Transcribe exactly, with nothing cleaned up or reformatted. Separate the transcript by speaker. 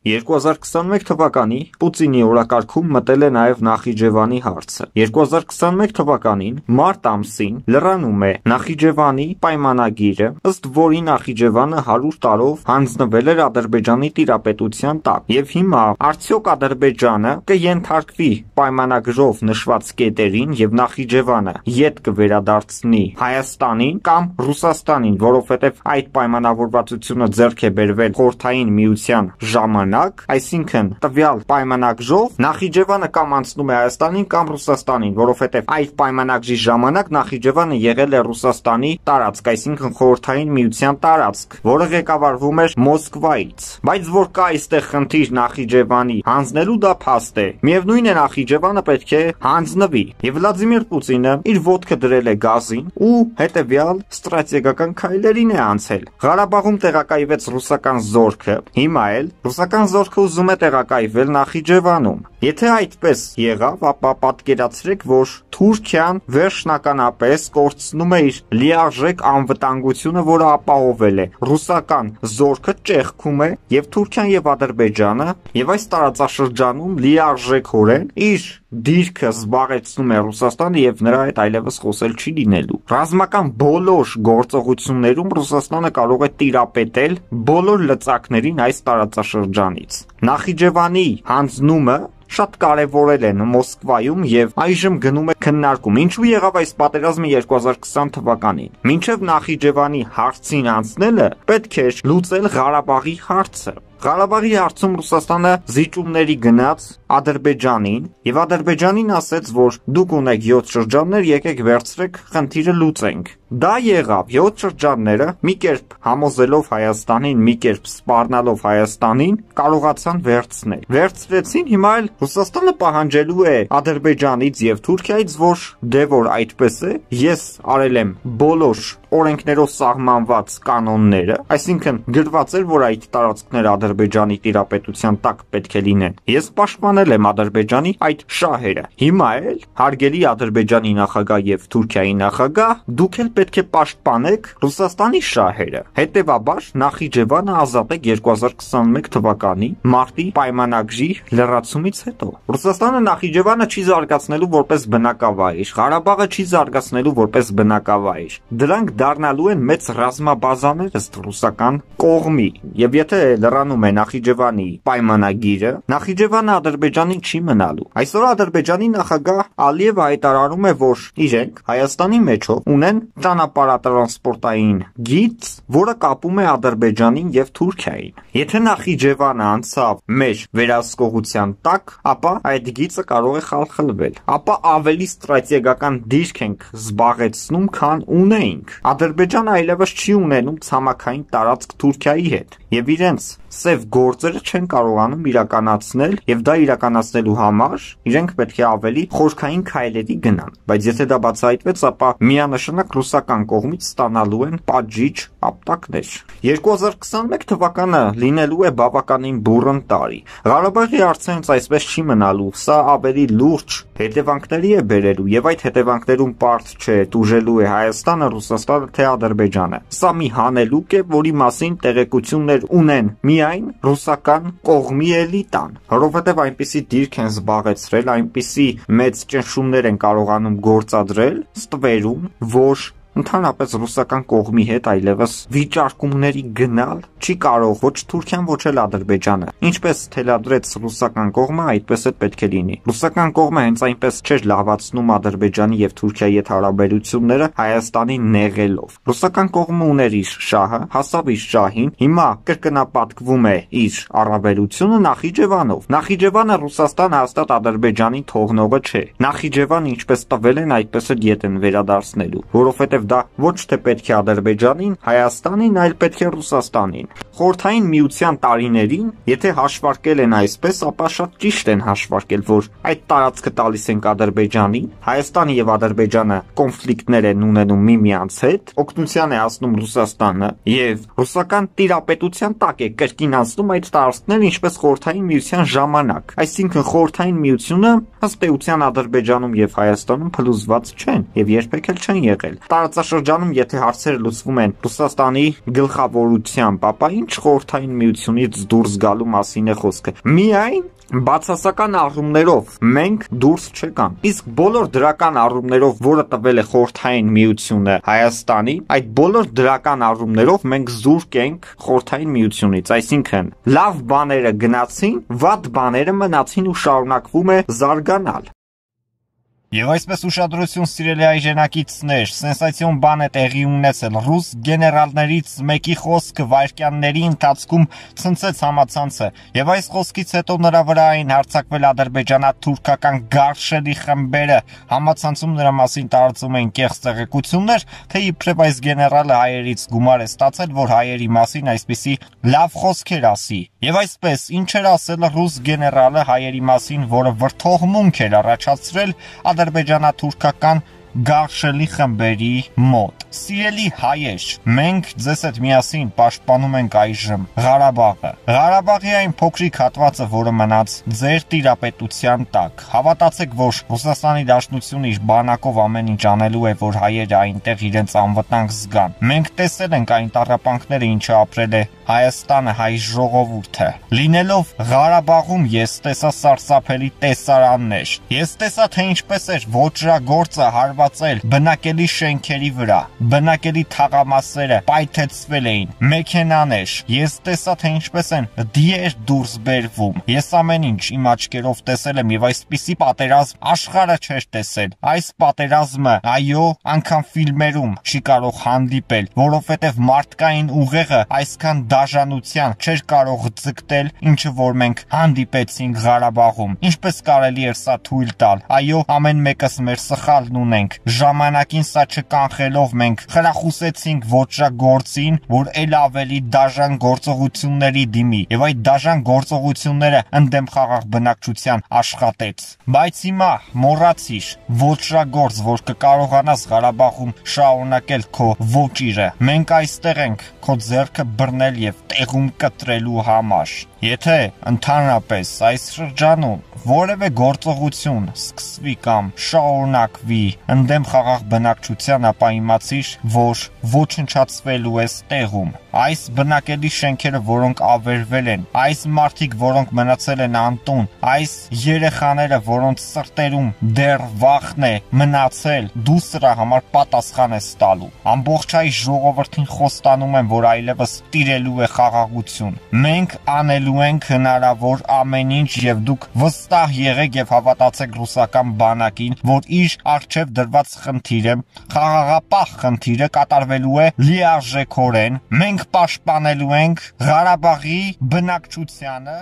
Speaker 1: երկու հազար քսաներեք թվականի Պուտինի օրակարգում մտել է նաև Նախիջևանի հարցը։ երկու հազար քսաներեք թվականին մարտ ամսին լրանում է Նախիջևանի պայմանագիրը, ըստ որի Նախիջևանը հարյուր տարով հանձնվել էր Ադրբեջանի տիրապետության տակ։ Եվ հիմա արդյոք Ադրբեջանը կենթարկվի պայմանագրով նշված կետերին եւ Նախիջևանը ետ կվերադարձնի Հայաստանին կամ Ռուսաստանին, որովհետեւ այդ պայմանավորվածությունը ձեռք է բերվել Խորհրդային Միության ժամանակ, այսինքն տվյալ պայմանագրով Նախիջևանը կամ անցնում է Հայաստանին կամ Ռուսաստանին, որովհետև այդ պայմանագրի ժամանակ Նախիջևանը եղել է Ռուսաստանի տարածք, այսինքն Խորհրդային Միության տարածք, որը ղեկավարվում էր Մոսկվայից։ Բայց որ կա այստեղ խնդիր Նախիջևանի հանձնելու, դա փաստ է։ Միևնույն է, Նախիջևանը պետք է հանձնվի։ Եվ Վլադիմիր Պուտինը իր ոտքը դրել է գազին ու հետևյալ ստրատեգիական քայլերին է անցել։ Ղարաբաղում տեղակայվեց ռուսական զորքը, հիմա էլ ռուսական զորքը ուզում է տեղակայվել Նախիջևանում։ Եթե այդպես եղավ, ապա պատկերացրեք, որ Թուրքիան վերջնականապես կորցնում է իր լիարժեք անվտանգությունը, որը ապահովել է։ Ռուսական զորքը ճեղքում է եւ Թուրքիան եւ Ադրբեջանը, եւ այս տարածաշրջանում լիարժեքորեն իր դիրքը զբաղեցնում է Ռուսաստանը եւ նրա հետ այլևս խոսել չի լինելու։ Ռազմական բոլոր գործողություններում Ռուսաստանը կարող է տիրապետել բոլոր լծակներին այս տարածաշրջանից։ Նախիջևանի հանձնումը շատ կարևորել են Մոսկվայում եւ այժմ գնում է քննարկում։ Ինչու եղավ այս պատերազմը երկու հազար քսան թվականին։ Մինչև Նախիջևանի հարցին անցնելը պետք էր լուծել Ղարաբաղի հարցը։ Ղարաբաղի հարցում Ռուսաստանը զիջումների գնաց Ադրբեջանին եւ Ադրբեջանին ասեց, որ դուք ունեք յոթ շրջաններ, եկեք վերցրեք, խնդիրը լուծենք։ Դա եղավ, յոթ շրջանները մի կերպ համոզելով Հայաստանին, մի կերպ սպառնալով Հայաստանին, կարողացան վերցնել։ Վերցրեցին, հիմա էլ Ռուսաստանը պահանջելու է Ադրբեջանից եւ Թուրքիայից, որ դե որ այդպես է, ես արել եմ բոլոր օրենքներով սահմանված կանոնները, այսինքն գրված էր, որ այդ տարածքները Ադրբեջանի տիրապետության տակ պետք է լինեն։ Ես պաշտպանել եմ Ադրբեջանի այդ շահերը։ Հիմա էլ հարգելի Ադրբեջանի նախագահ եւ Թուրքիայի նախագահ, դուք էլ պետք է պաշտպանեք Ռուսաստանի շահերը։ Հետևաբար Նախիջևանը ազատեք երկու հազար քսաներեք թվականի մարտի պայմանագրի լրացումից հետո։ Ռուսաստանը Նախիջևանը չի զարգացնելու որպես բնակավայր, Ղարաբաղը չի զարգացնելու որպես բնակավայր։ Դրանք դառնալու են մեծ ռազմաբազաներ ըստ ռուսական կողմի։ Եվ եթե լրանում է Նախիջևանի պայմանագիրը, Նախիջևանը Ադրբեջանին չի մնալու։ Այսօր Ադրբեջանի նախագահ Ալիևը հայտարարում է, որ իրենք Հայաստանի մեջով ունեն ճանապարհատրանսպորտային գիծ, որը կապում է Ադրբեջանին եւ Թուրքիային։ Եթե Նախիջևանը անցավ մեր վերահսկողության տակ, ապա այդ գիծը կարող է խալխլվել, ապա ավելի ստրատեգիական դիրք ենք զբաղեցնում, քան ունեինք։ Ադրբեջանը այլևս չի ունենում ցամաքային տարածք Թուրքիայի հետ եւ իրենց սև գործերը չեն կարողանում իրականացնել եւ դա իրականացնելու համար իրենք պետք է ավելի խորքային քայլերի գնան, բայց եթե դա բացահայտվեց, ապա միանշանակ ռուսական կողմից ստանալու են պատժիչ ապտակներ։ երկու հազար քսաներեք թվականը լինելու է բավականին բուռն տարի։ Ղարաբաղի հարցը հենց այսպես չի մնալու, սա ավելի լուրջ հետևանքների է բերելու եւ այդ հետևանքներում պարզ չէ տուժելու է Հայաստանը, Ռուսաստանը թե Ադրբեջանը։ Սա մի հանելուկ է, որի մասին տեղեկություններ ունեն միայն ռուսական կողմի էլիտան, որովհետև այնպիսի դիրք են զբաղեցրել, այնպիսի մեծ ճնշումներ են կարողանում գործադրել ստվերում, որ ընդհանրապես ռուսական կողմի հետ այլևս վիճարկումների գնալ չի կարող ոչ Թուրքիան, ոչ էլ Ադրբեջանը։ Ինչպես թելադրեց ռուսական կողմը, այդպես էլ պետք է լինի։ Ռուսական կողմը հենց այնպես չէր լավացնում Ադրբեջանի եւ Թուրքիայի հետ հարաբերությունները Հայաստանին նեղելով։ Ռուսական կողմը ուներ իր շահը, հասավ իր շահին, հիմա կրկնապատկվում է իր առավելությունը Նախիջևանով։ Նախիջևանը Ռուսաստան հաստատ Ադրբեջանի թողնողը չէ։ Նախիջևանը ինչպես տվել են, այդպես էլ ետ են վերադարձնելու, որովհետեւ դա ոչ թե պետք է Ադրբեջանին, Հայաստանին, այլ պետք է Ռուսաստանին։ Խորհրդային Միության տարիներին, եթե հաշվարկել են այսպես, ապա շատ ճիշտ են հաշվարկել, որ այդ տարածքը տալիս ենք Ադրբեջանին, Հայաստանը եւ Ադրբեջանը կոնֆլիկտներ են ունենում միմյանց հետ, օգնության է հասնում Ռուսաստանը եւ ռուսական տիրապետության տակ է կրկին անցնում այդ տարածքները, ինչպես Խորհրդային Միության ժամանակ։ Այսինքն Խորհրդային Միությունը ըստ էության Ադրբեջանում եւ Հայաստանում փլուզված չեն եւ երբեք էլ չեն եղել։ տարածաշրջանում եթե հարցերը լուծվում են Ռուսաստանի գլխավորությամբ, ապա ինչ խորհրդային միությունից դուրս գալու մասին է խոսքը։ Միայն բացասական առումներով մենք դուրս չեկան։ Իսկ բոլոր դրական առումներով, որը տվել է խորհրդային միությունը Հայաստանի, այդ բոլոր դրական առումներով մենք զուրկ ենք խորհրդային միությունից, այսինքն լավ բաները գնացին, վատ բաները մնացին ու շարունակվում է զարգանալ։
Speaker 2: Եվ այսպես ուշադրություն սիրելի այժենակիցներ, սենսացիոն բան է տեղի ունեցել։ Ռուս գեներալներից մեկի խոսքը վայրկյանների ընթացքում ցնցեց համացանցը, եւ այս խոսքից հետո նրա վրա էին հարձակվել ադրբեջանա-թուրքական գարշելի խմբերը։ Համացանցում նրա մասին տարածում էին կեղծ տեղեկություններ, թե իբրև այս գեներալը հայերից գումար է ստացել, որ հայերի մասին այսպիսի լավ խոսքեր ասի։ Եվ այսպես, ինչ էր ասել ռուս գեներալը հայերի մասին, որը վրդովմունք էր առաջացրել ադրբեջանա-թուրքական գարշելի խմբերի մոտ։ Սիրելի հայեր, մենք ձեզ հետ միասին պաշտպանում ենք այժմ Ղարաբաղը։ Ղարաբաղի այն փոքրիկ հատվածը, որը մնաց ձեր տիրապետության տակ։ Հավատացեք, որ Ռուսաստանի Դաշնությունը իր բանակով ամեն ինչ անելու է, որ հայերը այնտեղ իրենց անվտանգ զգան։ Մենք տեսել ենք այն տառապանքները, ինչը ապրել է Հայաստանը, հայ ժողովուրդը։ Լինելով Ղարաբաղում, ես տեսա սարսափելի տեսարաններ։ Ես տեսա, թե ինչպես էր ոճրագործը հարվածել բնակելի շենքերի վրա, բնակելի թաղամասերը պայթեցվել էին, մեքենաներ։ Ես տեսա, թե ինչպես են դիեր դուրս բերվում։ Ես ամեն ինչ իմ աչքերով տեսել եմ եւ այսպիսի պատերազմ աշխարհը չէր տեսել։ Այս պատերազմը, այո, անգամ ֆիլմերում չի կարող հանդիպել, որովհետեւ մարդկային ուղեղը այսքան դաժանության չէր կարող ձգտել, ինչը որ մենք հանդիպեցինք Ղարաբաղում։ Ինչպես կարելի էր սա թույլ տալ։ Այո, ամեն մեկս մեր սխալն ունենք։ Ժամանակին սա չկանխելով մենք խրախուսեցինք ոճրագործին, որ ել ավելի դաժան գործողությունների դիմի, եւ այդ դաժան գործողությունները ընդդեմ խաղաղ բնակչության աշխատեց։ Բայց հիմա մոռացիր, ոճրագործ, որ կկարողանաս Ղարաբաղում շարունակել քո ոճիրը։ Մենք այստեղ ենք քո ձեռքը բռնել եւ տեղում կտրելու համար։ Եթե ընդհանրապես այս շրջանում որևէ գործողություն սկսվի կամ շարունակվի ընդդեմ խաղաղ բնակչության, ապա իմացիր, որ ոչնչացվելու ես տեղում։ Այս բնակելի շենքերը, որոնք ավերվել են, այս մարդիկ, որոնք մնացել են անտուն, այս երեխաները, որոնց սրտերում դեռ վախն է մնացել, դու սրա համար պատասխան ես տալու։ Ամբողջ հայ ժողովրդին խոստանում եմ, որ այլևս տիրելու է խաղաղություն։ Մենք անելու ենք հնարավոր ամեն ինչ եւ դուք վստահ եղեք եւ հավատացեք ռուսական բանակին, որ իր առջեւ դրված խնդիրը, խաղաղապահ խնդիրը կատարվելու է լիարժեքորեն։ Մենք պաշտպանելու ենք Ղարաբաղի բնակչությանը